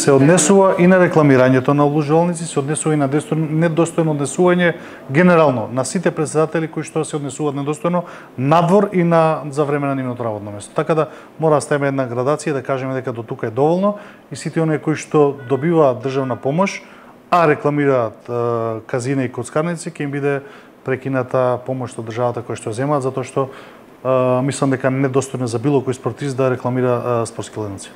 се однесува и на рекламирањето на обложувалници, се однесува и на недостојно однесување генерално на сите претседатели кои што се однесуваат недостојно надвор и за време на нивното работно место. Така да мора да ставиме една градација да кажеме дека до тука е доволно и сите оние кои што добиваат државна помош, а рекламираат казина и коцкарници, ќе им биде прекината помош од државата која што земаат, затоа што мислам дека недостојно за било кој спортист да рекламира спортски ледници.